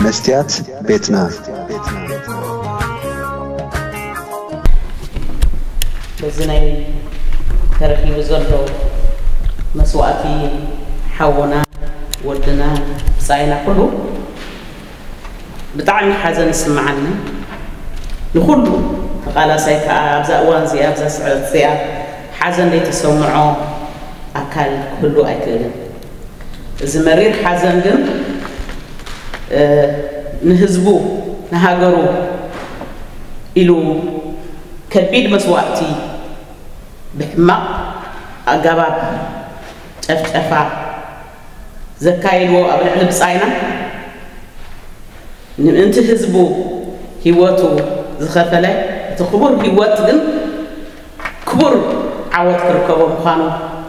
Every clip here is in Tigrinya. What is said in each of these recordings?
መስትያት ቤትና። በዚ ናይ ተረኺቡ ዘሎ መስዋእቲ ሓውና፣ ወድና፣ ብጻይና ኩሉ ብጣዕሚ ሓዘን ይስምዓኒ። ንኹሉ ተቓላሳይ ከኣ ኣብዛ እዋን እዚኣ፣ ኣብዛ ስዕረት እዚኣ ሓዘን ዘይተሰምዖ ኣካል ክህሉ ኣይክእልን። እዚ መሪር ሓዘን ግን ንህዝቡ፣ ንሃገሩ ኢሉ ከቢድ መስዋእቲ ብሕማቕ ኣገባብ ጨፍጨፋ ዘካየድዎ ኣብ ልዕሊ ብጻይና፣ ንምእንቲ ህዝቡ ህይወቱ ዝኸፈለ፣ እቲ ክቡር ህይወት ግን ክቡር ዓወት ክርከቦ ምዃኑ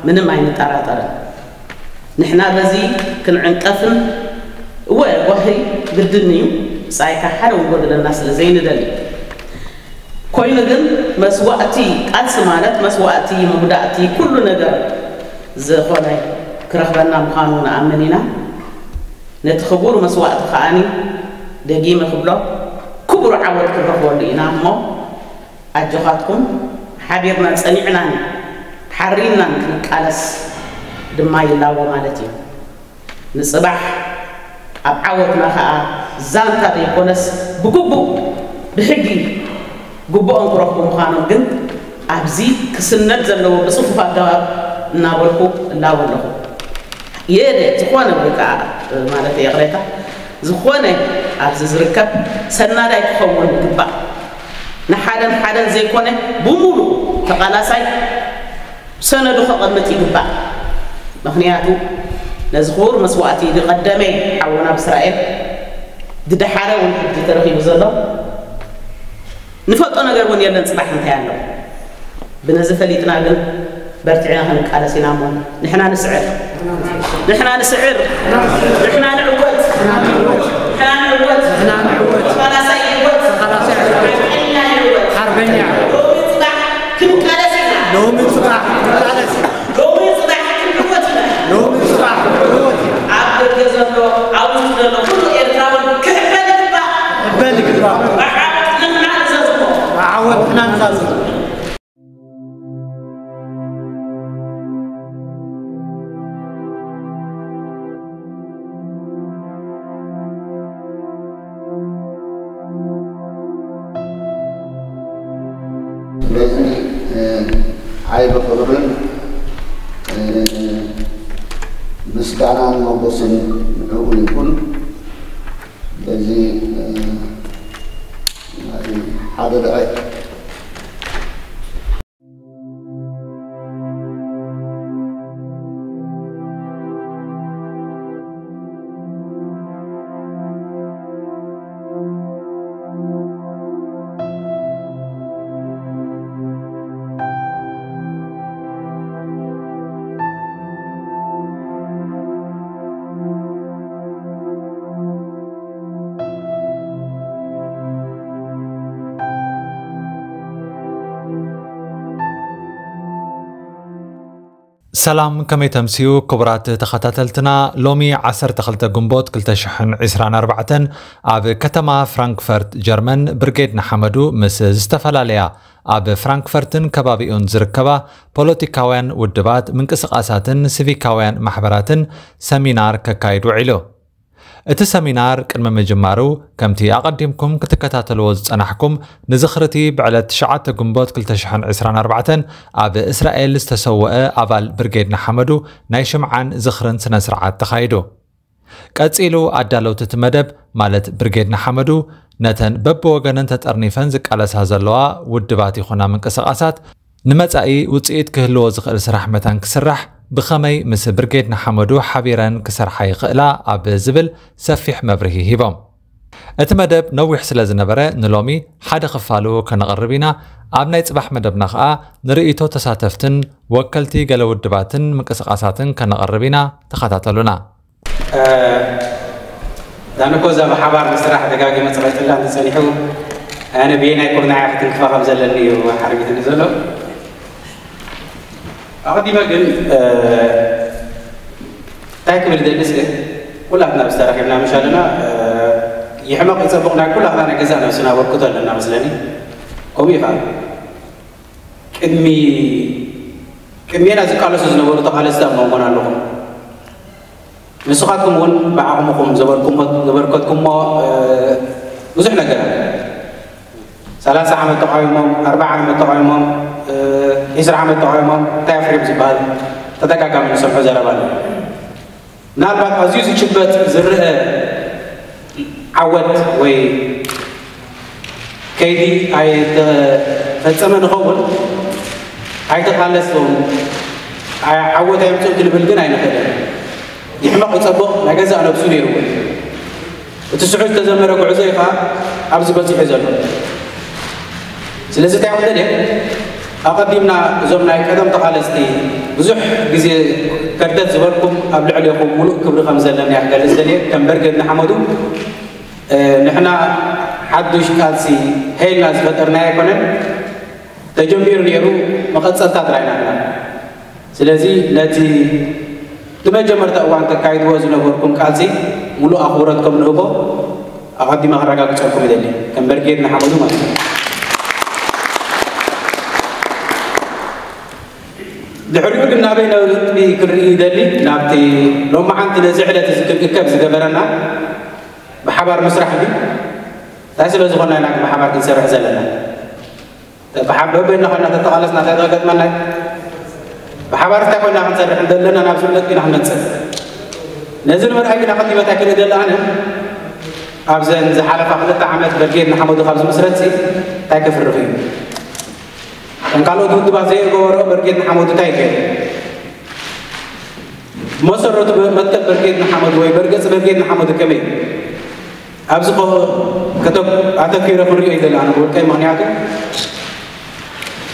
ምንም ኣይንጠራጠርን። ንሕና በዚ ክንዕንቀፍን፣ እወ፣ ጓሂ ግድን እዩ፣ ብጻይካ ሓደ እውን ጎድለና ስለ ዘይንደሊ። ኮይኑ ግን መስዋእቲ፣ ቃልሲ ማለት መስዋእቲ፣ መጉዳእቲ፣ ኩሉ ነገር ዝኾነ ክረኽበና ምዃኑ ንኣምን ኢና። ነቲ ክቡር መስዋእቲ ከኣኒ ደጊመ ክብሎ፣ ክቡር ዓወት ክንረኽበሉ ኢና እሞ፣ ኣጆኻትኩም፣ ሓቢርናን ጸኒዕናን ሓሪንናን ክንቃለስ ድማ ይላቦ ማለት እዩ። ንጽባሕ ኣብ ዓወትና ከኣ ዛንታ ዘይኮነስ ብግቡእ ብሕጊ ግቡኦም ክረኽቡ ምዃኖም ግን ኣብዚ ክስነድ ዘለዎ ብጽፉፍ ኣገባብ እናበልኩ እላቦ ኣለኹ። የደ ዝኾነ ወይ ከዓ ማለት ይቕሬታ፣ ዝኾነ ኣብዚ ዝርከብ ሰናዳይ ክኸውን ይግባእ። ንሓደን ሓደን ዘይኮነ ብሙሉ ተቓላሳይ ሰነዱ ከቐምጥ ይግባእ። ምኽንያቱ ነዚ ክቡር መስዋእቲ ዝቐደመ ሓውና ብእስራኤል ዝደሓረ እውን ሕጂ ተረኺቡ ዘሎ ንፈልጦ ነገር እውን የለን። ጽባሕ እንታይ ኣሎ? ብነዚ ፈሊጥና ግን በርቲዕና ክንቃለስ ኢና እሞ ንሕና ንስዕር፣ ንሕና ንስዕር፣ ንሕና ንዕወት፣ ንሕና ንዕወት፣ ንሕና ንዕወት። ተቓላሳይ ይዕወት፣ ተቓላሳይ ይዕወት። ሓርበኛ ይዕወት። ሓርበኛ። ሎሚ ጽባሕ ክንቃለስ ኢና። ሎሚ ጽባሕ ክንቃለስ ኢና። ሎሚ ጽባሕ ክንዕወት ኢና። ሎሚ ጽባሕ ክንዕወት ኢና። ኣብ ደገ ዘሎ፣ ኣብ ውሽጢ ዘሎ ኩሉ ኤርትራዊ ክሕበን ይግባእ። ክሕበን ይግባእ። ብዓወት ንሕና ንዛዝሞ። ብዓወት ንሕና ንዛዝሞ። ስለዚ፣ እ፣ ዓቢ ክብርን፣ እ፣ ምስጋናን ሞገስን ንዕኡ ይኹን። በዚ፣ እ፣ ናይ ሓደ ድዕይ ሰላም፣ ከመይ ተምስዩ ክቡራት ተኸታተልትና? ሎሚ ዓሰርተ ክልተ ግንቦት ክልተ ሽሕን ዕስራን ኣርባዕተን ኣብ ከተማ ፍራንክፈርት ጀርመን ብርጌድ ንሓመዱ ምስ ዝተፈላለያ ኣብ ፍራንክፈርትን ከባቢኡን ዝርከባ ፖለቲካውያን ውድባት፣ ምንቅስቓሳትን ሲቪካውያን ማሕበራትን ሰሚናር ከካይድ ውዒሉ። እቲ ሰሚናር ቅድሚ ምጅማሩ፣ ከምቲ ኣቐዲምኩም ክትከታተልዎ ዝጸናሕኩም፣ ንዝኽሪ እቲ ብዕለት ትሽዓተ ግንቦት ክልተ ሽሕን ዕስራን ኣርባዕተን ኣብ እስራኤል ዝተሰወአ ኣባል ብርጌድ ንሓመዱ ናይ ሽምዓን ዝኽርን ስነ ስርዓት ተኻይዱ። ቀጺሉ ኣዳለውቲ እቲ መደብ፣ ማለት ብርጌድ ንሓመዱ፣ ነተን በብወገነን ተጠርኒፈን ዝቃለሳ ዘለዋ ውድባት ይኹና ምንቅስቓሳት፣ ንመጻኢ ውጽኢት ክህልዎ ዝኽእል ስራሕ መታን ክስራሕ፣ ብኸመይ ምስ ብርጌድ ንሓመዱ ሓቢረን ክሰርሓ ይኽእላ ኣብ ዝብል ሰፊሕ መብርሂ ሂቦም። እቲ መደብ ነዊሕ ስለ ዝነበረ፣ ንሎሚ ሓደ ክፋሉ ከነቕርብ ኢና። ኣብ ናይ ጽባሕ መደብና ኸኣ ንርእይቶ ተሳተፍትን ወከልቲ ገለ ውድባትን ምንቅስቓሳትን ከነቕርብ ኢና። ተኸታተሉና። እ፣ ዳንኮ እዛ ብሓባር ምስራሕ ደጋጊመ ጸቒጠላ እንተጸኒሑ፣ ኣነ ብየናይ ኩርናዕ ክትንክፋ ከም ዘለኒ እዩ ሓርቢትኒ ዘሎ። ኣቐዲመ ግን፣ እ፣ እንታይ ክብል ደሊ ስለ ኩላትና ብዝተረኺብና ምሽ ኣለና፣ እ፣ ይሕመቕ ይጸብቕ ናይ ኩላትና ናይ ገዛእ ነብስና ኣበርክቶ ኣለና መስለኒ። ከምኡ እዩ ከዓ ቅድሚ ቅድሜና ዝቃለሱ ዝነበሩ ተቓለስቲ ኣብ መንጎና ኣለኹም። ንስኻትኩም እውን ብዓቕምኹም ዘበርኩሞ- ዘበርከትኩሞ ብዙሕ ነገር ኣሎ። ሰላሳ ዓመት ተቃዊሞም፣ ኣርባዓ ዓመት ተቃዊሞም፣ ዒስራ ዓመት ተቃዊሞም እንታይ ኣፍርዮም ዝበሃል ተደጋጋሚ ንሰምዖ ዘረባ ኣሎ። ምናልባት ኣዝዩ ዝጭበጥ ዝረአ ዓወት ወይ ከይዲ ኣይተፈጸመ ንኸውን ኣይተቃለስዎም ዓወት ኣየምፅኡ ክንብል ግን ኣይንኽእልን። ይሕመቕ ይፀብቕ ናይ ገዛእ ነብሱ ነይሩ እውን እቲ ስዑ ዝተዘመረ ጉዕዞ እዩ ከዓ ኣብዚ በፂሑ ዘሎ። ስለዚ እንታይ ክደልየ ኣቐዲምና እዞም ናይ ቀደም ተቓለስቲ ብዙሕ ግዜ ከርተት ዝበልኩም ኣብ ልዕሌኹም ሙሉእ ክብሪ ከም ዘለኒ እያ ክገልፅ ደልየ ከም በርጌድ ንሓመዱ ንሕና ሓዱሽ ቃልሲ ሀይልና ዝፈጠርና ኣይኮነን። ተጀሚሩ ነይሩ መቐፀልታ ጥራይ ናትና። ስለዚ ነቲ እቲ መጀመርታ እዋን ተካይድዎ ዝነበርኩም ቃልሲ ሙሉእ ኣኽብሮት ከም ንህቦ ኣቐዲመ ክረጋግፀልኩም ይደሊ ከም በርጌድ ንሓመዱ ማለት እዩ። ድሕሪኡ ግን ናበይ ነጥቢ ክርኢ ይደሊ ናብቲ ሎማዓንቲ ነዚ ዕለት እዚ ክንእከብ ዝገበረና ብሓባር ምስራሕ እዩ። እንታይ ስለ ዝኾንና ኢና ብሓባር ክንሰርሕ ዘለና? በበይና ኮይና ተተቓለስና እንታይ ዝገጥመና? ብሓባር እንታይ ኮይና ክንሰርሕ እንደለና ናብ ዝብለት ኢና ክንመፅእ። ነዚ ንምርኣይ ግን ኣቐዲመ እንታይ ክርኢ ደለ ኣነ ኣብዘን ዝሓለፋ ክልተ ዓመት በርጌድ ንሓመዱ ካብ ዝምስረት እንታይ ከፍርኽ እዩ? ከም ካልኦት ውድባት ዘይገበሮ በርጌድ ንሓመዱ እንታይ ገይሩ? መሰረቱ መትከል በርጌድ ንሓመዱ ወይ በርገፂ በርጌድ ንሓመዱ ከመይ ኣብዚ ኣተኪረ ክንሪኦ ይደሊ ኣነ ብውልቀይ። ምክንያቱ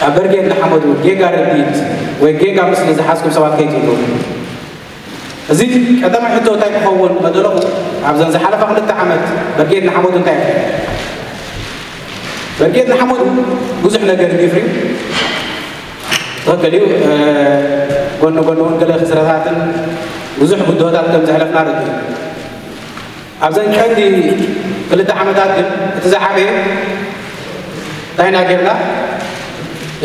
ኣብ በርጌድ ንሓመዱ ጌጋ ርድኢት ወይ ጌጋ ምስሊ ዝሓዝኩም ሰባት ከይትህልዉ። እዚ ቀዳማይ ሕቶ እንታይ ክኸውን መደለኹ ኣብዘን ዝሓለፋ ክልተ ዓመት በርጌድ ንሓመዱ እንታይ በርጌድ ንሓመዱ ብዙሕ ነገር ይፍሪ። ትኽክል እዩ። ጎኒ ጎኒ እውን ገለ ክስረታትን ብዙሕ ብድሆታት ከም ዘሕለፍና ርድእ። ኣብዘን ቀንዲ ክልተ ዓመታት ግን እቲ ዝዓበየ እንታይ ኢና ጌርና?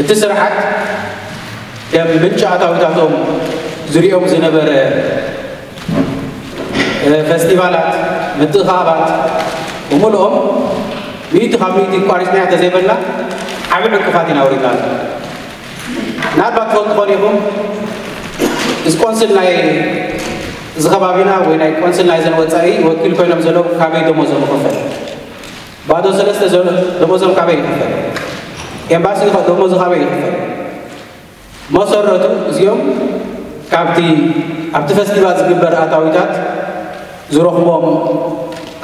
እቲ ስርዓት ከም ምንጪ ኣታዊታቶም ዝሪኦም ዝነበረ ፈስቲቫላት፣ ምትእኻባት ብምልኦም ሚእቲ ካብ ሚእቲ ኣቋሪፅናዮ ተዘይበልና ዓብዪ ዕንቅፋት ኢና ኣውሪድናሉ። ምናልባት ትፈልጡ ኾን ኢኹም እዚ ቆንስል ናይ እዚ ከባቢና ወይ ናይ ቆንስል ናይ ዘን ወፃኢ ወኪል ኮይኖም ዘለዉ ካበይ ደሞዞም ይኽፈል? ባዶ ሰለስተ ዘሎ ደሞዞም ካበይ ይኽፈል? ኤምባሲ ኸ ደሞዙ ካበይ ይኽፈል? መሰረቱ እዚኦም ካብቲ ኣብቲ ፈስቲቫል ዝግበር ኣታዊታት ዝረኽቦም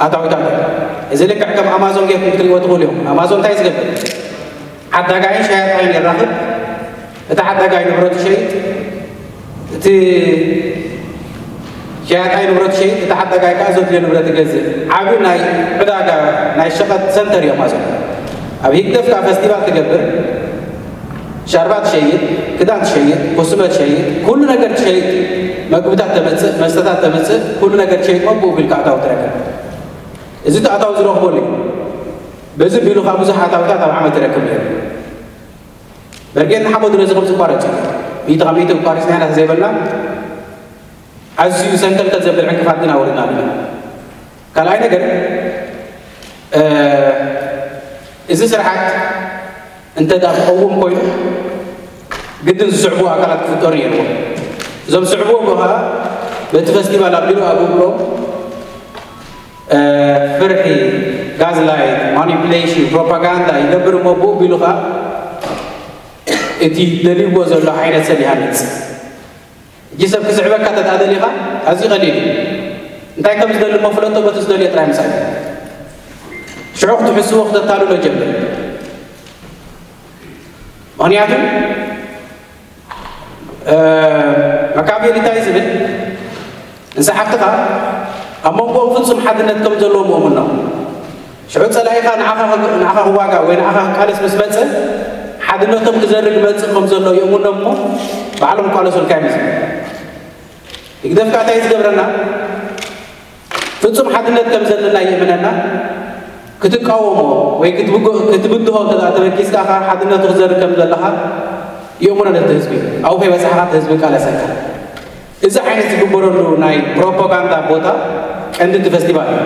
ኣታዊታት እዮም። እዚ ልክዕ ከም ኣማዞን ጌርኩም ክትሪእዎ ትኽእሉ እዮም። ኣማዞን እንታይ ዝገብር? ዓዳጋይን ሸያጣይን የራኽብ። እቲ ዓዳጋይ ንብረት ይሸይጥ፣ እቲ ሸያጣይ ንብረት ይሸይጥ፣ እቲ ዓዳጋይ ከዓ ዘድልዮ ንብረት ይገዝእ። ዓብዪ ናይ ዕዳጋ ናይ ሸቐጥ ሰንተር እዮም ኣዞም። ኣብ ሂግደፍ ከዓ ፈስቲቫል ትገብር፣ ሻርባ ትሸይጥ፣ ክዳን ትሸይጥ፣ ኮስመ ትሸይጥ፣ ኩሉ ነገር ትሸይጥ፣ መግብታት ተመፅእ፣ መስተታት ተመፅእ፣ ኩሉ ነገር ትሸይጥ፣ መብኡ ቢልካ ኣታዊ ትረክብ። እዚ እቲ ኣታዊ ዝረኽበሉ እዩ። በዚ ቢሉ ከዓ ብዙሕ ኣታዊታት ኣብ ዓመት ይረክብ ነይሩ። በርጌድ ንሓመዱ ነዚ ከም ዝቋረፅ እዩ። ሚእቲ ካብ ሚእቲ ቋሪፅና ኢና ተዘይበልና ኣዝዩ ሰንከልከል ዘብል ዕንቅፋት ግን ኣውሪድና ኣለና። ካልኣይ ነገር እ፣ እዚ ስርዓት እንተ ደኣ ክቐውም ኮይኑ ግድን ዝስዕቡ ኣካላት ክፍጠሩ ነይርዎም። እዞም ዝስዕብዎ ከዓ በቲ ፈስቲቫል ኣቢሉ ኣብ እግሮም እ፣ ፍርሒ፣ ጋዝላይት፣ ማኒፕሌሽን፣ ፕሮፓጋንዳ ይገብር እሞ ብኡ ቢሉ ከዓ እቲ ደልይዎ ዘሎ ዓይነት ሰብ ይሃንፅ። ሕጂ ሰብ ክስዕበካ ተደኣ ደሊኻ ኣዝዩ ቀሊል እዩ። እንታይ ከም ዝደሊ እሞ ፍለጦ፣ በቲ ዝደልዮ ጥራይ ምሳይ ሽዑ ክትሕስዎ ክተታልሎ ጀምር። ምክንያቱ እ፣ መካቬሊ እንታይ ዝብል ንሰሓብትኻ ኣብ መንጎኦም ፍጹም ሓድነት ከም ዘለዎ ምእሙን ነው። ሽዑ ጸላኢኻ ንዓኻ ንዓኻ ክዋጋእ ወይ ንዓኻ ክቃለስ ምስ መጸ ሓድነቶም ክዘርግ መጽእ ከም ዘሎ ይእሙኖም እሞ ባዕሎም ክቃለሱልካ እዮም ዝብል። ህግደፍ ከኣ እንታይ እዩ ዝገብረና? እቲ ፍጹም ሓድነት ከም ዘለና ይእምነና። ክትቃወሞ ወይ ክትብድሆ እንተ ተበጊስካ፣ ሓድነቱ ክዘርእ ከም ዘለኻ ይእምኖ ነቲ ህዝቢ። ኣብኡ ከይበጻሕካ እቲ ህዝቢ ይቃለሰካ። እዚ ዓይነት ዝግበረሉ ናይ ፕሮፓጋንዳ ቦታ ቀንዲ እቲ ፈስቲቫል እዩ።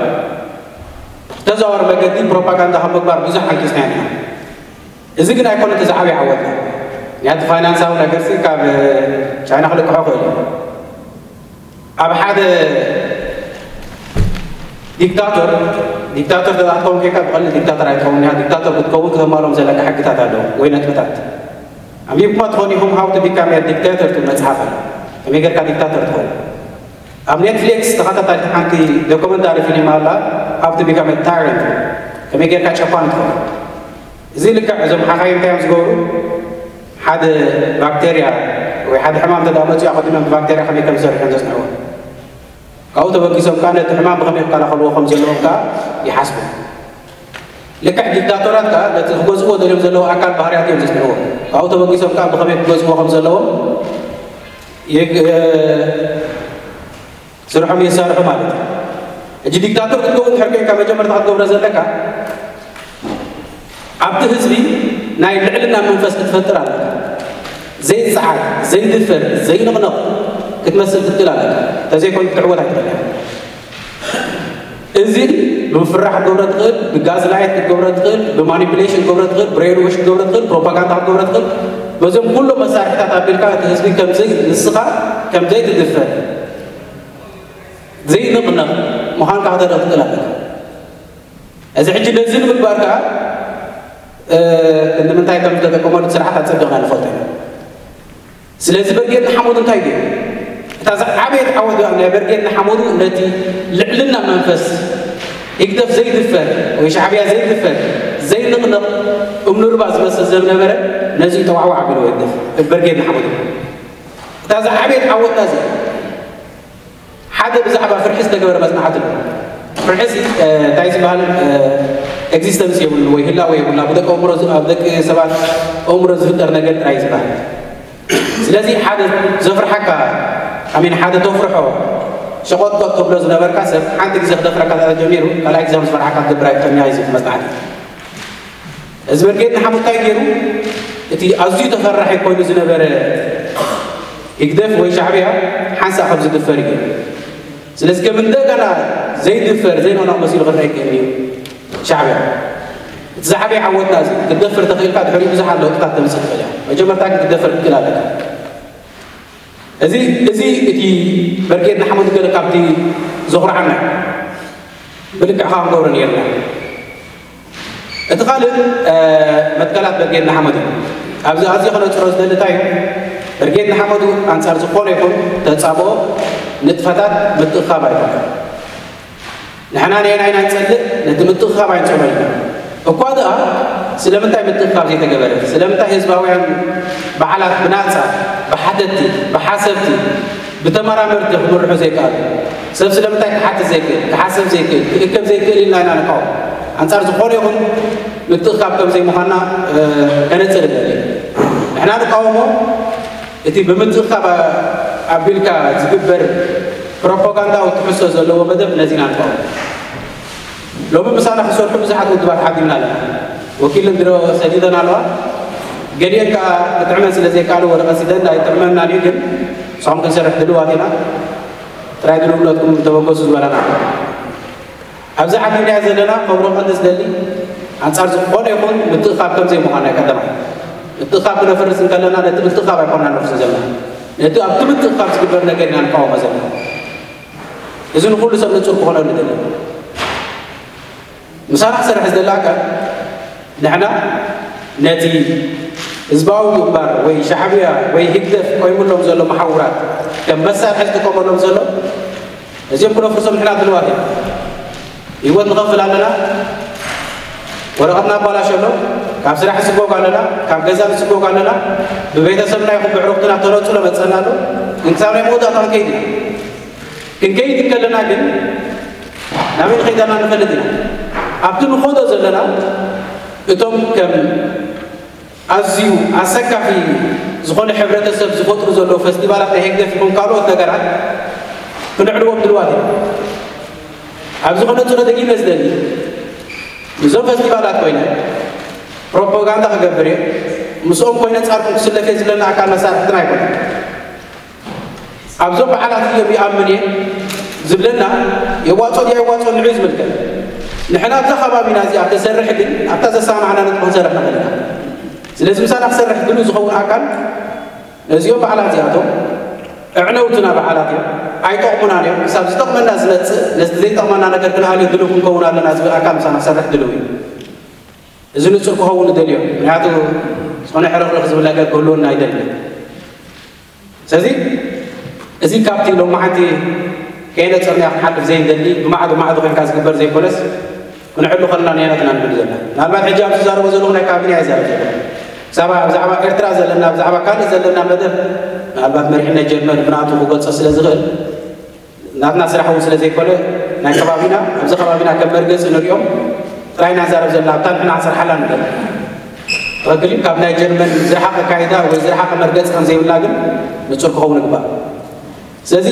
ተዘዋዋሪ መገዲ ፕሮፓጋንዳ ካብ ምግባር ብዙሕ ሓንኪስና ኢና። እዚ ግን ኣይኮነ እቲ ዝዓበየ ዓወትና። ምክንያቱ ፋይናንሳዊ ነገርሲ ካብ ቻይና ክልቅሖ ክእል እዩ። ኣብ ሓደ ዲክታቶር፣ ዲክታቶር ተትኸውን ከይካ ብቐሊል ዲክታቶር ኣይትኸውን። ያ ዲክታቶር ክትከውን ክተማሎም ዘለካ ሕግታት ኣለዉ ወይ ነጥብታት። ኣንቢብኩማ ትኾን ኢኹም፣ How to Become a Dictator ትብል መጽሓፍ ኣለ። ከመይ ጌርካ ዲክታቶር ትኸውን? ኣብ ኔትፍሊክስ ተኸታታሊት ሓንቲ ዶኩመንታሪ ፊልም ኣላ፣ How to Become a Tyrant፣ ከመይ ጌርካ ጨቋን ትኸውን። እዚ ልክዕ እዞም ሓኻይም እንታይ እዮም ዝገብሩ? ሓደ ባክቴርያ ወይ ሓደ ሕማም እንተ መፅኡ፣ ኣቐዲሞም ብባክቴርያ ከመይ ከም ዝሰርሑ እዮም ዘፅንዕዎ። ካብኡ ተበጊሶም ከዓ ነቲ ሕማም ብኸመይ ክከላኸልዎ ከም ዘለዎም ከዓ ይሓስቡ። ልክዕ ዲክታቶራት ከዓ ነቲ ክገዝእዎ ደልዮም ዘለዉ ኣካል ባህርያት እዮም ዘፅንዕዎ። ካብኡ ተበጊሶም ከዓ ብኸመይ ክገዝእዎ ከም ዘለዎም ይግ-፣ ስርሖም የሳርሑ ማለት እዩ። ሕጂ ዲክታቶር ክትከውን እንድሕር ኮይንካ፣ መጀመርታ ክትገብሮ ዘለካ፣ ኣብቲ ህዝቢ ናይ ልዕልና መንፈስ ክትፈጥር ኣለካ። ዘይጸዓር፣ ዘይድፈር፣ ዘይንቕነቕ ክትመስል ክትክእል ኣለካ። እንተዘይኮይኑ ክትዕወት ኣይትኽእልን። እዚ ብምፍራሕ ክትገብሮ ትኽእል፣ ብጋዝ ላይት ክትገብሮ ትኽእል፣ ብማኒፑሌሽን ክትገብሮ ትኽእል፣ ብሬን ዎሽ ክትገብሮ ትኽእል፣ ፕሮፓጋንዳ ክትገብሮ ትኽእል። በዞም ኩሎም መሳርሒታት ኣቢልካ እቲ ህዝቢ ከምዘይ፣ ንስኻ ከምዘይትድፈር፣ ዘይንቕነቕ ምዃንካ ከተርኢ ትኽእል ኣለካ። እዚ ሕጂ ነዚ ንምግባር ከኣ፣ እ፣ ንምንታይ ከም ዝተጠቀመሉ ስርዓት ኣጸቢቕና ንፈልጦ ኢና። ስለዚ በርጌድ ንሓመዱ እንታይ ገይሩ? እታ ዝዓበየት ዓወት ናይ በርጌድ ንሓመዱ ነቲ ልዕልና መንፈስ ህግደፍ ዘይድፈር ወይ ሻዕብያ ዘይድፈር፣ ዘይንቕነቕ እምኒ ሩባ ዝመስል ዝነበረ ነዚ ጠዋዕዋዕ ኣቢልዎ ህግደፍ፣ በርጌድ ንሓመዱ። እታ ዝዓበየት ዓወትና እዚኣ። ሓደ ብዛዕባ ፍርሒ ዝተገበረ መጽናዕቲ ኣሎ። ፍርሒ እዚ፣ እ፣ እንታይ ዝበሃል፣ እ፣ ኤግዚስተንስ የብሉ ወይ ህላወ የብሉና። ብደቂ ኣእምሮ ዝ-፣ ኣብ ደቂ ሰባት ኣእምሮ ዝፍጠር ነገር ጥራይ ዝበሃል። ስለዚ ሓደ ዘፍርሓካ፣ ኣሚን፣ ሓደ ተፍርሖ ሸቆጥቆጥ ተብሎ ዝነበርካ ሰብ ሓንቲ ግዜ ክደፍረካ ተጀሚሩ፣ ካልኣይ ግዜ ምስ ፈርሓካ ትገብር ኣይትኾንያ እዩ ዝብል መጽናዕቲ። እዚ ብርጌድ ንሓመዱ እንታይ ገይሩ? እቲ ኣዝዩ ተፈራሒ ኮይኑ ዝነበረ ህግደፍ ወይ ሻዕብያ ሓንሳእ ከም ዝድፈር እዩ። ስለዚ ከም እንደገና ዘይድፈር፣ ዘይንቕነቕ መሲሉ ክረአ ይክእል እዩ ሻዕብያ። እቲ ዝዓበየ ዓወትና እዚ፣ ክትደፍር ተኽኢልካ ድሕሪኡ ብዙሓት ለውጥታት ተምጽእ ትኽእል እያ። መጀመርታ ግን ክትደፍር ክትክእል ኣለካ። እዚ፣ እዚ እቲ ብርጌድ ንሓመዱ ገለ ካብቲ ዘኹርዓና እዩ። ብልክዕ ከዓ ክንገብሮ ነይርና። እቲ ካልእ፣ እ፣ መትከላት ብርጌድ ንሓመዱ እዩ። ኣብዚ ኣዝየ ከነጽሮ ዝደሊ እንታይ እዩ? ብርጌድ ንሓመዱ ኣንጻር ዝኾነ ይኹን ተጻብኦ ንጥፈታት ምትእኽኻብ ኣይኮነን። ንሕና ነየናይ ኢና ንጸልእ? ነቲ ምትእኽኻብ ኣይንጸልኦን ኢና። እኳ ደኣ ስለምንታይ ምትእኽኻብ ዘይተገበረ? ስለምንታይ ህዝባውያን በዓላት ብናጻ፣ ብሓተትቲ፣ ብሓሰብቲ፣ ብተመራመርቲ ክምርሑ ዘይከኣሉ? ሰብ ስለምንታይ ክሓትት ዘይክእል፣ ክሓስብ ዘይክእል፣ ክእከብ ዘይክእል ኢልና ኢና ንቃወም። ኣንጻር ዝኾነ ይኹን ምትእኽኻብ ከም ዘይምዃንና፣ እ፣ ከነጽር ንደሊ። ንሕና ንቃወሞ እቲ ብምትእኽኻብ ኣቢልካ ዝግበር ፕሮፓጋንዳዊ ትሕዝቶ ዘለዎ መደብ ነዚ ኢና ንቃወሞ። ሎሚ ምሳና ክሰርሑ ብዙሓት ውድባት ዓዲምና ኣለና። ወኪል እንድሮ ሰዲደን ኣለዋ። ገሊአን ከኣ ክጥዕመን ስለ ዘይከኣሉ ወረቐት ሲደን ኣይጥዕመናን እዩ፣ ግን ንስኹም ክንሰርሕ ድልዋት ኢና። ጥራይ ድልውነትኩም ተበገሱ ዝበለና። ኣብዚ ዓዲምናዮ ዘለና ከብሮ ቀንዲ ዝደሊ ኣንጻር ዝኾነ ይኹን ምትእኻብ ከም ዘይምዃን ናይ ቀዳማይ። ምትእኻብ ክነፍርስ እንከለና ነቲ ምትእኻብ ኣይኮንና ነፍርሶ ዘለና። ነቲ ኣብቲ ምትእኻብ ዝግበር ነገር ኢና ንቃወሞ ዘለና። እዚ ንኹሉ ሰብ ንጹር ክኾነሉ ይደሊ። ምሳና ክሰርሕ ዝደሊ ኣካል ንሕና ነቲ ህዝባዊ ግንባር ወይ ሻዕብያ ወይ ህግደፍ ቆይሙሎም ዘሎ መሓውራት ከም መሳርሒ ዝጥቀመሎም ዘሎ እዚኦም ክነፍርሶም ንሕና ድልዋት ኢና። ህይወት ንኸፍል ኣለና፣ ወረቐትና ኣባላሾ ኣሎ፣ ካብ ስራሕ ንስጎግ ኣለና፣ ካብ ገዛ ንስጎግ ኣለና፣ ብቤተሰብና ይኹን ብዕሩኽትና ተነጽሎ መጸና ኣሎ። ግን ክሳብ ናይ መወዳእታ ክንከይድ ኢና። ክንከይድ እንከለና ግን ናበይ ንኸይድ ኣለና ንፈልጥ ኢና። ኣብቲ ንኸዶ ዘለና እቶም ከም ኣዝዩ ኣሰካፊ ዝኾነ ሕብረተሰብ ዝፈጥሩ ዘለዉ ፈስቲቫላት ናይ ህግደፍ ይኹን ካልኦት ነገራት ክንዕልዎም ድልዋት ኢና። ኣብዚ ኮነ ፅሎ ደጊመ ዝደሊ፣ እዞም ፈስቲቫላት ኮይነ ፕሮፓጋንዳ ክገብር እየ፣ ምስኦም ኮይነ ፃርኩም ክስለፍ እየ ዝብለና ኣካል መሳርሕትና ኣይኮነን። ኣብዞም በዓላት እዮም ይኣምን እየ ዝብለና የዋፅኦ ድዩ ኣይዋፅኦ ንዑ ዝምልከት። ንሕና ኣብዛ ከባቢና እዚኣ ተሰርሕ ግን ኣብታ ዘሰማማዕና ነጥቢ ክንሰርሕ ንኽእል ኢና። ስለዚ ምሳና ክሰርሕ ድሉ ዝኸውን ኣካል ነዚኦም በዓላት እዚኣቶም ኣዕነውትና በዓላት እዮም፣ ኣይጠቕሙናን እዮም። ክሳብ ዝጠቕመና ዝመፅእ ነቲ ዘይጠቕመና ነገር ክንኣልዮ ድሉ ክንከውን ኣለና ዝብል ኣካል ምሳና ክሰርሕ ድልው እዩ። እዚ ንፁር ክኸውን ንደልዮ፣ ምክንያቱ ዝኾነ ሕርኽርኽ ዝብል ነገር ክህልወና ኣይደልን። ስለዚ እዚ ካብቲ ሎማዓንቲ ከይነፀርናዮ ክንሓልፍ ዘይንደሊ ብማዕዶ ማዕዶ ኮይንካ ዝግበር ዘይኮነስ ክንሕሉ ከለና ንየነትና ንብል ዘለና። ምናልባት ሕጂ ኣብዚ ዝዛረቦ ዘለኹ ናይ ካቢነ ኣይዛረብ ዘለኹ። ብዛዕባ ብዛዕባ ኤርትራ ዘለና ብዛዕባ ካልእ ዘለና መደብ ምናልባት መሪሕነት ጀርመን ብናቱ ክገልፆ ስለ ዝኽእል ናትና ስራሕ እውን ስለ ዘይኮነ ናይ ከባቢና ኣብዚ ከባቢና ከም መርገፂ ንሪኦም ጥራይ ኢና ንዛረብ ዘለና ኣብታ ንሕና ንሰርሓላ ንብል ትኽክል እዩ። ካብ ናይ ጀርመን ዝረሓቐ ኣካይዳ ወይ ዝረሓቐ መርገፂ ከም ዘይብላ ግን ንፁር ክኸውን ይግባእ። ስለዚ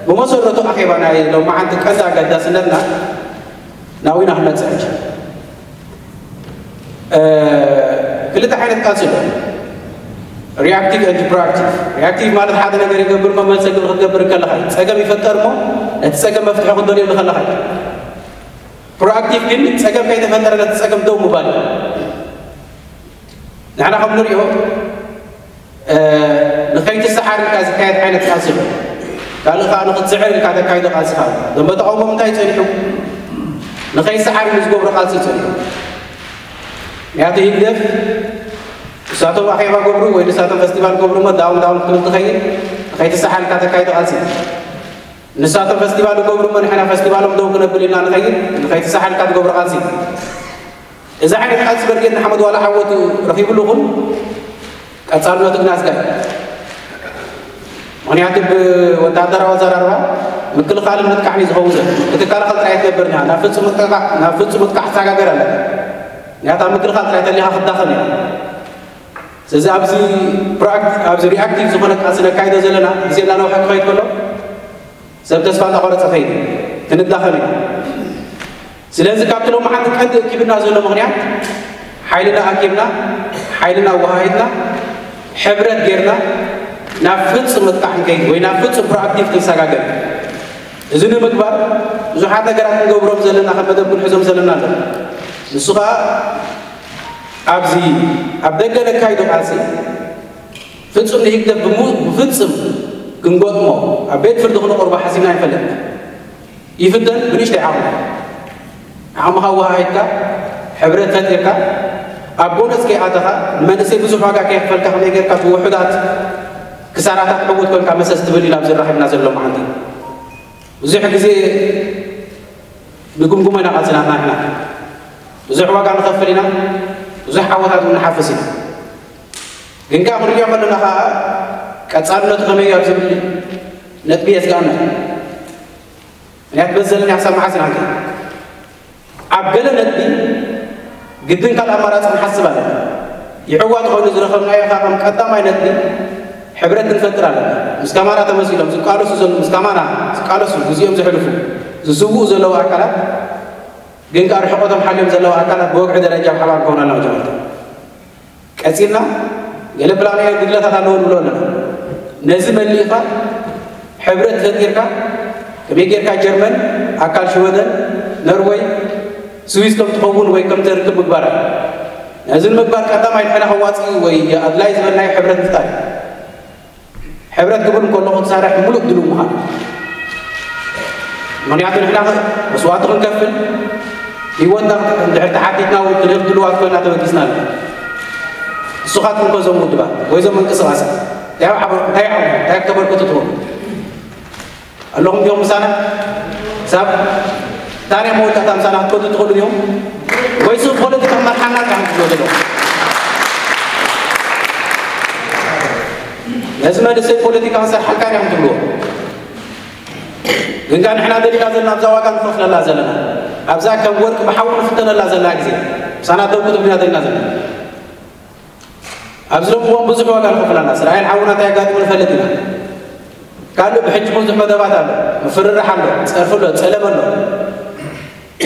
ብመሰረቱ ኣኼባ ናይ ሎማዓንቲ ቀንዲ ኣገዳስነትና ናዊና ክመፅእ ሕጂ ክልተ ዓይነት ቃልሲ ኣሎ። ሪኣክቲቭ ን ፕሮኣክቲቭ። ሪኣክቲቭ ማለት ሓደ ነገር ይገብር ሞ መልሰ ግብሪ ክትገብር ከለኻ እዩ። ፀገም ይፈጠር ሞ ነቲ ፀገም መፍትሒ ክትደልየሉ ከለኻ እዩ። ፕሮኣክቲቭ ግን ፀገም ከይተፈጠረ ነቲ ፀገም ደው ምባል እዩ። ንሕና ከም ንሪኦ ንኸይትሰዓር ኢልካ ዝካየድ ዓይነት ቃልሲ ኣሎ። ካልእ ከዓ ንኽትስዕር ኢልካ ተካይዶ ቃልሲ ከዓ ኣሎ። ደንበ ተቃውሞ ምንታይ ጸኒሑ ንኸይሰዓር ኢሉ ዝገብሮ ቃልሲ እዩ ጸኒሑ። ምክንያቱ ህግደፍ ንሳቶም ኣኼባ ገብሩ ወይ ንሳቶም ፈስቲቫል ገብሩ እሞ ዳውን ዳውን ክትብል ትኸይድ ንኸይትሰዓር ኢልካ ተካይዶ ቃልሲ እዩ። ንሳቶም ፈስቲቫል ይገብሩ እሞ ንሕና ፈስቲቫሎም ደው ክነብል ኢልና ንኸይድ ንኸይትሰዓር ኢልካ ትገብሮ ቃልሲ እዩ። እዚ ዓይነት ቃልሲ በርጌድ ንሓመድ ዋላ ዓወት ረኺብሉ ይኹን ቀፃልነቱ ግን ኣስጋኢ። ምኽንያቱ ብወታደራዊ ኣዘራርባ ምክልኻልን ምጥቃዕን እዩ ዝኸውን ዘሎ። ክትከላኸል ጥራይ ትገብር ኢና ናብ ፍፁም ምጥቃዕ ናብ ፍፁም ምጥቃዕ ትሰጋገር ኣለ። ምክንያቱ ኣብ ምክልኻል ጥራይ ተሊኻ ክትዳኸም እያ። ስለዚ ኣብዚ ፕሮኣክት ኣብዚ ሪኣክቲቭ ዝኾነ ቃልሲ ነካይዶ ዘለና ግዜ እናነውሐ ክኸይድ ከሎ ሰብ ተስፋ እናቆረፀ ኸይድ ክንዳኸም ኢና። ስለዚ ካብቲ ሎማዓንቲ ቀንዲ እኪብና ዘሎ ምኽንያት ሓይልና ኣኪብና ሓይልና ኣወሃሂድና ሕብረት ጌርና ናብ ፍፁም ምጥቃዕ ክንከይድ ወይ ናብ ፍፁም ፕሮኣክቲቭ ክንሰጋገር። እዚ ንምግባር ብዙሓት ነገራት ክንገብሮም ዘለና ከም መደብ ክንሕዞም ዘለና ኣሎ። ንሱ ከዓ ኣብዚ ኣብ ደገ ነካይዶ ቃልሲ ፍፁም ንህግደፍ ብፍፅም ክንገጥሞ ኣብ ቤት ፍርዲ ክነቕርቦ ሓሲብና ኣይንፈልጥን። ይፍተን ብንእሽተይ ዓቕሙ ዓቕምኻ ኣወሃሂድካ ሕብረት ፈጢርካ ኣብ ጎነፅ ከይኣተኻ ንመንእሰይ ብዙሕ ዋጋ ከየኽፈልካ ከመይ ጌርካ ብውሑዳት ክሳራታት ዕዉት ኮንካ መሰስ ትብል ኢና ኣብዚ ራኺብና ዘሎ መዓልቲ። ብዙሕ ግዜ ንግምግሞ ኢና ቃልስናትና ንሕና ብዙሕ ዋጋ ንኸፍል ኢና፣ ብዙሕ ዓወታት እውን ንሓፍስ ኢና። ግን ከዓ ክንሪኦ ከለና ከዓ ቀፃልነቱ ከመይ ኣብ ዝብል ነጥቢ የስጋእና። ምክንያት በዘለና ክሳብ መዓስ ኢና ንከይድ? ኣብ ገለ ነጥቢ ግድን ካልእ ኣማራፂ ንሓስብ ኣለና። ይዕዋ ተኾይኑ ዝረኸብናዮ ከዓ ከም ቀዳማይ ነጥቢ ሕብረት ክንፈጥር ኣለና። ምስ ከማና ተመሲሎም ዝቃለሱ ዘለዉ ምስ ከማና ዝቃለሱ ግዜኦም ዘሕልፉ ዝስውኡ ዘለዉ ኣካላት ግን ከዓ ርሕቐቶም ሓልዮም ዘለዉ ኣካላት ብወግዒ ደረጃ ብሓባር ክኾኑ ኣለና መጀመርታ። ቀፂልና ገለ ፕላናውያን ጉድለታት ኣለዎ ንብሎ ኣለና። ነዚ መሊእኻ ሕብረት ፈጢርካ ከመይ ጌርካ ጀርመን ኣካል ሽወደን ነርወይ ስዊስ ከም ትኸውን ወይ ከም ተርክብ ምግባር እዩ። ነዚ ንምግባር ቀዳማይ ንሕና ከዋፂ ወይ ኣድላይ ዝበልናዮ ሕብረት ምፍጣር እዩ። ሕብረት ክብል እንከሎ ክትሰርሕ ምሉእ ድሉው ምዃን። ምኽንያቱ ንሕና መስዋእቲ ክንከፍል ህይወትና እንድሕር ተሓቲትና እውን ክንህብ ድሉዋት ኮይና ተበጊስና ኣለና። ንስኻትኩም ከ እዞም ውድባት ወይ እዞም ምንቅስቃሳት እንታይ ዓቕሙ እንታይ ክተበርክቱ ትኽእሉ ኣለኹም ድዮም ምሳና? ሳብ ታሪክ መወዳእታ ምሳና ክትከዱ ትኽእሉ ድዮም? ወይስ ፖለቲካ መርሓና ጥራሕ ትብሎ ዘለኹም? ነዚ መንእሰይ ፖለቲካ ክሰርሓልካ ኢና ትብልዎ። ግን ከኣ ንሕና ደሊና ዘለና ኣብዛ ዋጋ ንኸፍለላ ዘለና ኣብዛ ከም ወርቂ ብሓዊ ንፍተነላ ዘለና ግዜ ምሳና ደው ክትብልና ደሊና ዘለና ኣብዚ ሎም እዋን ብዙሕ ዋጋ ንኸፍል ኣለና። እስራኤል ሓውና እንታይ ኣጋጢሙ ንፈልጥ ኢና። ካልእ ብሕጂ ብዙሕ መደባት ኣሎ፣ ምፍርራሕ ኣሎ፣ ጸርፊ ኣሎ፣ ጸለመ ኣሎ።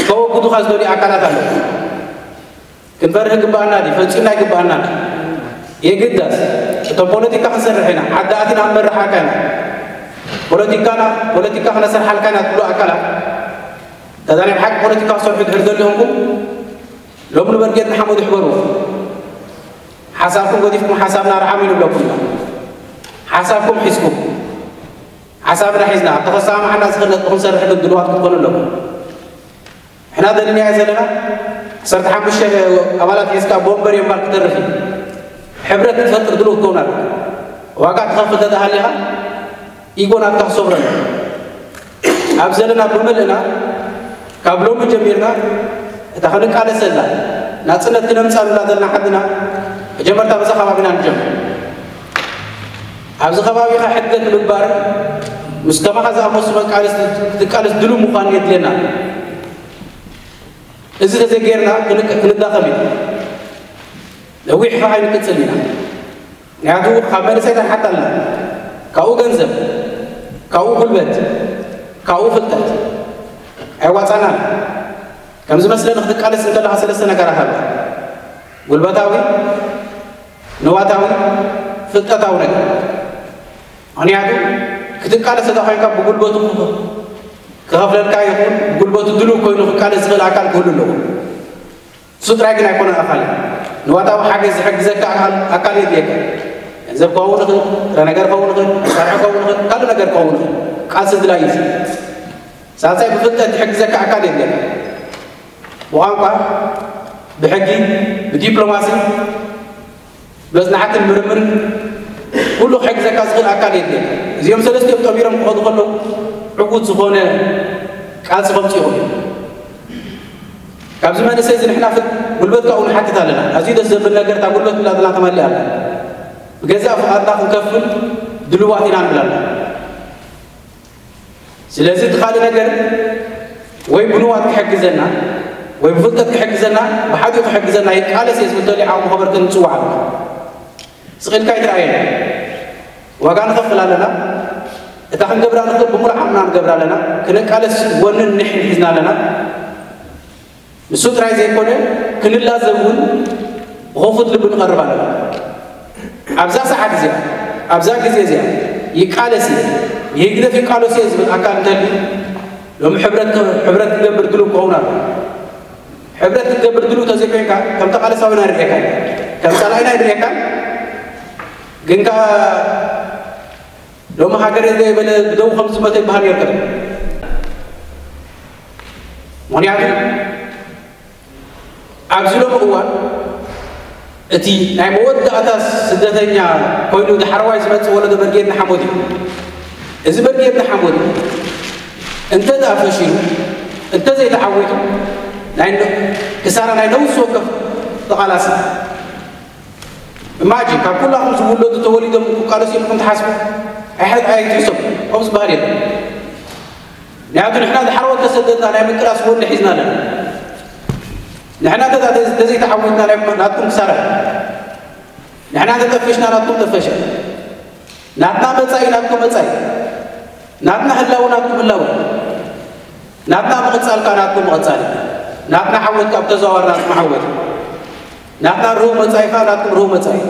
ከወግዱኻ ዝደልዩ ኣካላት ኣሎ። ክንፈርህ ግባኣና ድዩ? ፈጺምና ይግባኣና። የግዳስ እቶም ፖለቲካ ክንሰርሕ ኢና፣ ዓዲ ኣቲና ክንመርሓካ ኢና፣ ፖለቲካና ፖለቲካ ክነሰርሓልካ ኢና ትብሉ ኣካላት፣ እታ ናይ ብሓቂ ፖለቲካ ክሰርሑ ድሕር ዘሊኹምኩም ሎም ንበርጌድ ንሓመዱ ይሕበሩ። ሓሳብኩም ገዲፍኩም ሓሳብና ርዓም ይንብለኩም ኢና። ሓሳብኩም ሒዝኩም፣ ሓሳብና ሒዝና ኣብ ተኸሳማዕና ዝኽእል ነጥቢ ክንሰርሕ ግን ድልዋት ክትኮኑ ኣለኩም። ሕና ደሊናዮ ዘለና ዓሰርተ ሓሙሽተ ኣባላት ሒዝካ ቦምበር የምባር ክተርፍ እዩ። ሕብረት ክትፈጥር ድልው ክትከውን ኣለካ። ዋጋ ትኸፍል ተተሃሊኻ ኢጎ ናትካ ክሰብረሉ። ኣብ ዘለና ብምልእና ካብ ሎሚ ጀሚርና እታ ክንቃለሰላ ናጽነት ክነምጻሉላ ዘለና ዓድና መጀመርታ በዛ ከባቢና ንጀምር። ኣብዚ ከባቢኻ ሕገት ምግባርን ምስ ከማኻ ዝኣመሱ መቃለስ ክትቃለስ ድሉ ምዃን የድልየና። እዚ ተዘይጌርና ክንቅ- ክንዳኸም እዩ። ነዊሕ ከዓ ኣይንቅጽል ኢና። ምክንያቱ ካብ መንእሰይታት ሓታ ኣለና። ካብኡ ገንዘብ፣ ካብኡ ጉልበት፣ ካብኡ ፍልጠት ኣይዋፃናን። ከም ዝመስለኒ ክትቃለስ እንከለኻ ሰለስተ ነገራት ኣለዋ። ጉልበታዊ፣ ንዋታዊ፣ ፍልጠታዊ ነገር። ምክንያቱ ክትቃለስ እንተ ኮይንካ ብጉልበቱ ክኸፍለልካ ይኹን ብጉልበቱ ድሉው ኮይኑ ክቃለስ ዝኽእል ኣካል ክህሉ ኣለዎ። እሱ ጥራይ ግን ኣይኮነን ኣኻሊ። ንዋታዊ ሓገዝ ዝሕግዘካ ኣካል ኣካል የድልየካ። ገንዘብ ክኸውን ይኽእል፣ ጥረ ነገር ክኸውን ይኽእል፣ መሳርሒ ክኸውን ይኽእል፣ ካልእ ነገር ክኸውን ይኽእል። ቃልሲ ድላይ እዩ። ሳልሳይ ብፍልጠት ዝሕግዘካ ኣካል የድልየካ። ብቋንቋ፣ ብሕጊ፣ ብዲፕሎማሲ፣ መጽናዕትን ምርምርን ኩሉ ክሕግዘካ ዝኽእል ኣካል የድልየካ። እዚኦም ሰለስቲኦም ጠሚሮም ክኸዱ ከለዉ ዕዉት ዝኾነ ቃልሲ ከምጽኡ ይኽእሉ እዮም። ካብዚ መንእሰይ እዚ ንሕና ፍት ጉልበት ካብኡ ንሓትት ኣለና። ኣዝዩ ደስ ዘብል ነገር እታ ጉልበት ብላትና ተማሊኣ ኣላ። ብገዛእ ፍቓድና ክንከፍል ድልዋት ኢና ንብል ኣለና። ስለዚ እቲ ካልእ ነገር ወይ ብንዋት ክሕግዘና ወይ ብፍልጠት ክሕግዘና ብሓዲኡ ክሕግዘና ይቃለስ እየ ዝብል ተልዩ ዓቕሙ ከበርክት ንጽዋዕ ኣለና። ስቕ ኢልካ ኣይትረኣየና። ዋጋ ንኸፍል ኣለና። እታ ክንገብራ ንኽእል ብምሉእ ዓቕምና ንገብራ ኣለና። ክንቃለስ ጎንን ንሕን ሒዝና ኣለና። ንሱ ጥራይ ዘይኮነ ክንላዘብ እውን ብኸፉት ልቢ ንቐርብ ኣለና። ኣብዛ ሰዓት እዚኣ ኣብዛ ግዜ እዚኣ ይቃለስ እየ ንህግደፍ ይቃለስ እየ ዝብል ኣካል እንተልዩ ሎሚ ሕብረት ሕብረት ክገብር ድሉው ክኸውን ኣሎ። ሕብረት ክትገብር ድሉው ተዘይኮይንካ ከም ተቓለሳዊና ንርእየካ ከም ጸላኢና ንርእየካ ግን ከኣ ሎሚ ሃገረይ ዘየበለ ብደው ከም ዝመተ ይበሃል ነይሩ። ምክንያቱ ኣብዚ ሎሚ እዋን እቲ ናይ መወዳእታ ስደተኛ ኮይኑ ዳሕረዋይ ዝመጽእ ወለዶ በርጌድ ንሓመዱ እዩ። እዚ በርጌድ ንሓመዱ እንተ ደኣ ፈሺሉ እንተ ዘይተዓዊቱ ናይ ክሳራ ናይ ነውሲ ወከፍ ተቓላሲ። እማጂ ካብ ኩላኹም ዝውለዱ ተወሊዶም ክቃለሱ ኢልኩም ትሓስቡ? ኣይሐ- ኣይትሕሰቡ። ከምኡ ዝበሃል የለን። ምክንያቱ ንሕና ድሓር ወልተ ሰደድና ናይ ምቅላስ ወኒ ሒዝና ኣለና። ንሕና ተዛ- ተዘይተዓዊትና ናይ ናትኩም ክሳራ እዩ። ንሕና ተጠፊሽና ናትኩም ጠፈሸ። ናትና መጻኢ ናትኩም መጻኢ። ናትና ህላወ ናትኩም ህላወ። ናትና ምቕጻል ከኣ ናትኩም ምቕጻል እዩ። ናትና ዓወት ካብ ተዘዋዋሪ ናትኩም ዓወት እዩ። ናትና ርሁው መጻኢ ከኣ ናትኩም ርሁው መጻኢ እዩ።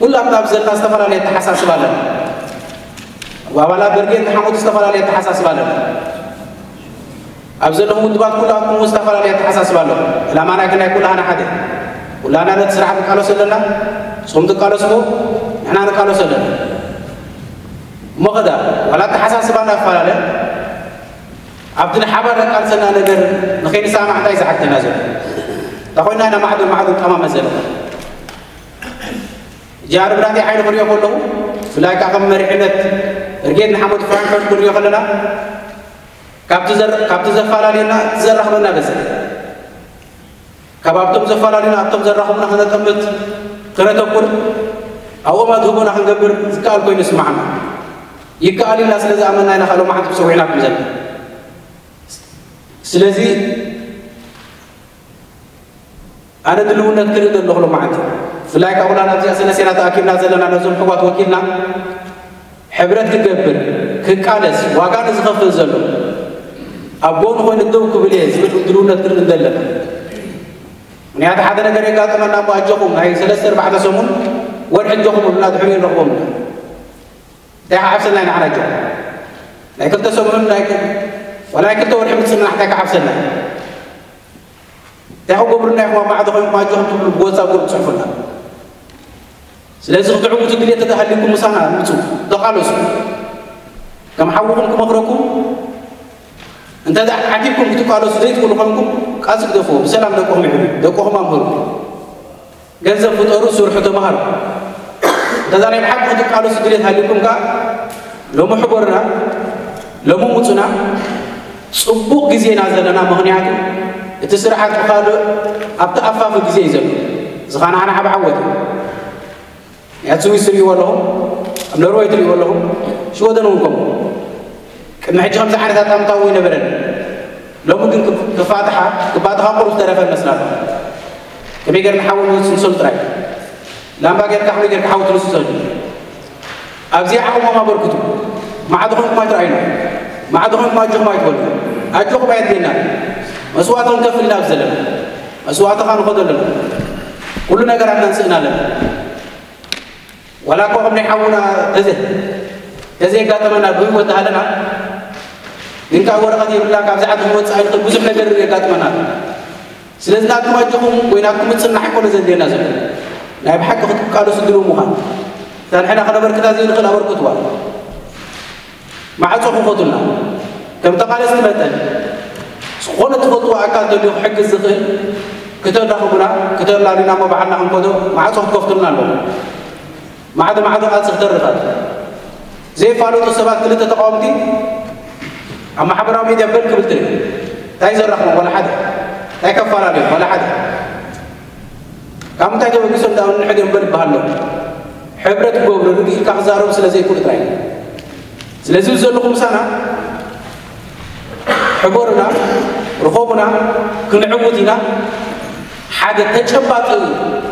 ኩላትና ኣብዚ ዘለና ዝተፈላለየ ኣተሓሳስባ ኣለና። ኣብ ኣባላት በርጌድ ንሓመዱ ዝተፈላለየ ኣተሓሳስባ ኣለና። ኣብ ዘለኹም ውድባት ኩላትኩም እውን ዝተፈላለየ ኣተሓሳስባ ኣለኹም። ዕላማና ግን ናይ ኩላህና ሓደ። ኩላና ነቲ ስራሕ ንቃለሶ ኣለና። ንስኹም ትቃለስዎ ንሕና ንቃለሶ ኣለና። እሞ ኸዳ ዋላ ኣተሓሳስባና ይፈላለ ኣብቲ ንሓባር ዘቃልሰና ነገር ንኸይንሰማማዕ እንታይ ዝሓተና ዘሎ? እንታይ ኮይና ኢና ማዕዶ ማዕዶ ንጠማመት ዘለና? ሕጂ ኣርብራቲ ሓይሊ ክሪኦ ከለኹ ብፍላይ ከዓ ከም መሪሕነት ብርጌድ ንሓመዱ ፍራንክፈርት ክንሪኦ ከለና ካብቲ ዘር- ካብቲ ዘፈላለየና እቲ ዘራኽበና በዝሕ። ካብ ኣብቶም ዘፈላለዩና ኣብቶም ዘራኽቡና ከነጠምት ክነተኩር ኣብኦም ኣድህቦና ክንገብር ዝከኣል ኮይኑ ይስማዓና። ይከኣል ኢልና ስለ ዝኣመንና ኢና ካልኦ መዓልቲ ክሰዊዕናኩም ዘለና። ስለዚ ኣነ ድልውነት ክርኢ ዘለኹ ሎማዓንቲ ብፍላይ ካብ ኩላና ኣብዚኣ ሰለስቴና ተኣኪብና ዘለና ነዞም ሕዋት ወኪልና ሕብረት ክገብር፣ ክቃለስ፣ ዋጋ ንዝኸፍል ዘሎ ኣብ ጎኑ ኮይኑ ደው ክብል እየ ዝብል ድልውነት ክርኢ ኣለና። ምክንያቱ ሓደ ነገር የጋጥመና እሞ ኣጆኹም ናይ ሰለስተ ኣርባዕተ ሰሙን ወርሒ ኣጆኹም ብሉና ድሕሪኡ ንረኽቦም ኢና። እንታይ ክዓብሰና ኢና ንዓና ኣጆኹም? ናይ ክልተ ሰሙን ናይ ክ-፣ ዋላ ናይ ክልተ ወርሒ ምጽንናሕ እንታይ ክዓብሰና? እንታይ ክገብሩና ኢኹም ኣብ ማዕዶ ኮይንኩም ኣጆኹም ትብሉ ብጎጻ ጉሩብ ትጽሕፉና? ስለዚ ክትዕውቱ ድልየት ተተሃሊኩም ምሳና ምጹ፣ ተቓለሱ። ከም ሓውኹም ክመኽረኩም እንተ ደኣ ዓቲብኩም ክትቃለሱ ዘይትኽእሉ ኮንኩም ቃልሲ ግደፍዎ። ብሰላም ደቅኹም ይሕሉ፣ ደቅኹም ኣምህሩ። ገንዘብ ፍጠሩ፣ ስርሑ፣ ተማሃሩ። እንተ ደኣ ናይ ብሓቂ ክትቃለሱ ድልየት ሃሊኩም ከኣ ሎሚ ሕቦርና፣ ሎሚ ምጹና፣ ጽቡቕ ግዜ ኢና ዘለና። ምኽንያቱ እቲ ስርዓት ብኻልእ ኣብቲ ኣፋፊ ግዜ እዩ ዘሎ። እዚ ኸኣ ንዓና ዓቢ ዓወት እዩ። ኣብ ስዊስ ትርእይዎ ኣለኹም፣ ኣብ ኖርወይ ትርእይዎ ኣለኹም፣ ሽወደን እውን ከምኡ። ቅድሚ ሕጂ ከምዚ ዓይነት ኣጣምታ እውን ኣይነበረን። ሎሚ ግን ክፍ-፣ ክፋትሓ፣ ክባጥኻ ቁሩብ ዝተረፈ መስላ ኣሎ። ከመይ ጌርና ሓዊ ንስንሰሉ ጥራይ። ላምባ ጌርካ ከመይ ጌርካ ሓዊ ትንስሰሉ። ኣብዚ ዓቕሞም ኣበርክቱ። ማዕዶ ኾንኩም ኣይትረኣዩና። ማዕዶ ኾንኩም ኣጆኹም ኣይትበሉ። ኣጆኹም ኣየድልየናን። መስዋእቲ ክንከፍል ኢና ኣብዚ ዘለና። መስዋእቲ ኸኣ ንኸዶ ኣለና። ኩሉ ነገራትና ንስእን ኣለና። ዋላ እኮ ከም ናይ ሓውና ተዘ-፣ ተዘየጋጠመና ብህይወት ሃለና፣ ግን ካብ ወረቐት የብልና፣ ካብዚ ዓዲ ክወጽእ ኣይንኽእል፣ ብዙሕ ነገር የጋጥመና። ስለዚ ናትኩም ኣጆኹም ወይ ናትኩም ምጽናሕ ኣይኮነ ዘድልየና ዘሎ። ናይ ብሓቂ ክትቃለሱ ድሉው ምዃን። እታ ንሕና ከነበርክታ ዘይንኽእል ኣበርክትዋ። ማዕጾ ክኸቱልና። ከም ተቓለስቲ መጠን፣ ዝኾነ ትፈልጥዎ ኣካል ተልዩ ክሕግዝ ዝኽእል፣ ክተራኽቡና፣ ክተላልዩና እሞ ባዕልና ክንከዶ ማዕጾ ክትከፍቱልና ኣለዎ። ማዕዶ ማዕዶ ቃልሲ ክተርፋት። ዘይፋለጡ ሰባት ክልተ ተቃወምቲ ኣብ ማሕበራዊ ሚድያ በል ክብል ትርኢ። እንታይ ዘራኽቦም? ዋላ ሓደ። እንታይ ከፈላለዮም? ዋላ ሓደ። ካብ ምንታይ ተበጊሶም ዳኣ ንሕድዮም በል ይበሃል ኣሎ። ሕብረት ክገብሩ ርግእ ኢልካ ክዛረቡ ስለ ዘይክእሉ ጥራይ። ስለዚ ዘለኹም ምሳና ሕቦርና፣ ርኸቡና፣ ክንዕውት ኢና። ሓደ ተጨባጢ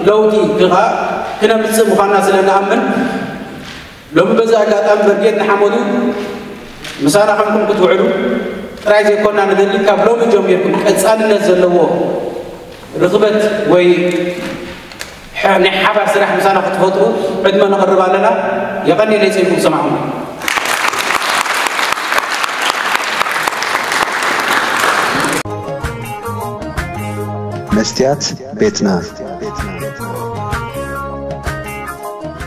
ለውጢ ክኻ ክነምጽእ ምዃንና ስለ ንኣምን፣ ሎሚ በዚ ኣጋጣሚ በርጌድ ንሓመዱ ምሳና ኮንኩም ክትውዕሉ ጥራይ ዘይኮና ንደሊ፣ ካብ ሎሚ ጀሚርኩም ቀጻልነት ዘለዎ ርኽበት ወይ ሐ-፣ ናይ ሓባር ስራሕ ምሳና ክትፈጥሩ ዕድመ ነቕርብ ኣለና። የቐንየለይ ጸይኩም ሰማዕኹም። መስትያት ቤትና።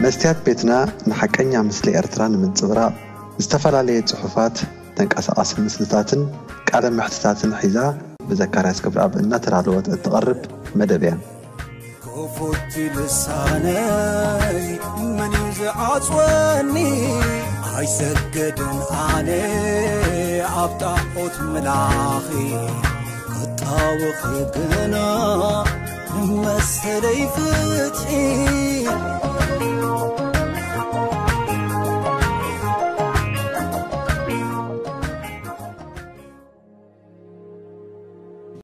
መስትያት ቤትና ንሓቀኛ ምስሊ ኤርትራ ንምንጽብራቕ ዝተፈላለየ ጽሑፋት፣ ተንቀሳቓሲ ምስልታትን ቃለ መሕትታትን ሒዛ ብዘካርያስ ገብረኣብ እናተዳለወት እትቐርብ መደብ እያ። ክፉት ልሳነይ መን እዩ ዝዓጽወኒ? ኣይሰገድን ኣነ ኣብ ጣዖት ምላኺ፣ ክጣወኺ ግና መሰለይ ፍትሒ።